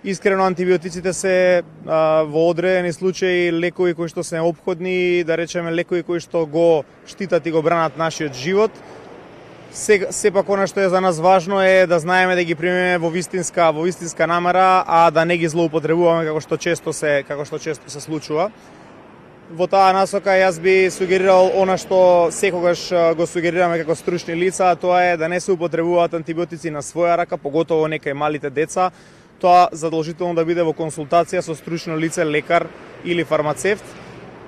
Искрено, антибиотиците се во одредени случаи лекови кои што се неопходни, да речеме лекови кои што го штитат и го бранат нашиот живот. Сепак она што е за нас важно е да знаеме да ги примеме во вистинска намера, а да не ги злоупотребуваме како што често се случува. Во таа насока јас би сугерирал она што секогаш го сугерираме како стручни лица, а тоа е да не се употребуваат антибиотици на своја рака, поготово некај малите деца. Тоа задолжително да биде во консултација со стручно лице, лекар или фармацевт.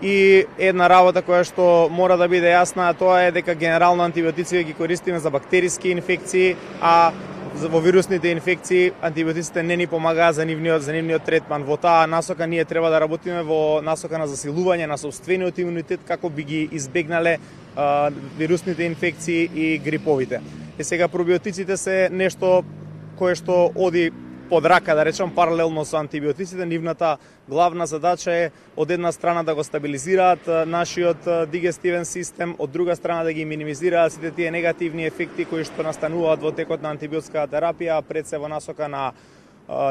И една работа која што мора да биде јасна, тоа е дека генерално антибиотици ги користиме за бактериски инфекции, а во вирусните инфекции антибиотиците не ни помагаат за нивниот третман. Во таа насока ние треба да работиме во насока на засилување на сопствениот имунитет како би ги избегнале вирусните инфекции и гриповите. И сега пробиотиците се нешто кое што оди под рака, да речем, паралелно со антибиотиците. Нивната главна задача е од една страна да го стабилизираат нашиот дигестивен систем, од друга страна да ги минимизираат сите тие негативни ефекти кои што настануваат во текот на антибиотската терапија, пред се во насока на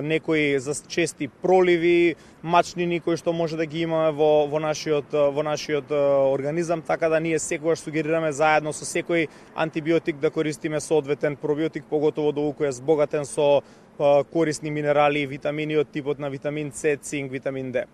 некои чести проливи, мачнини кои што може да ги имаме во нашиот организам, така да ние секогаш сугерираме заедно со секој антибиотик да користиме соодветен пробиотик, поготово доколку е збогатен со корисни минерали и витамини од типот на витамин С, цинк, витамин Д.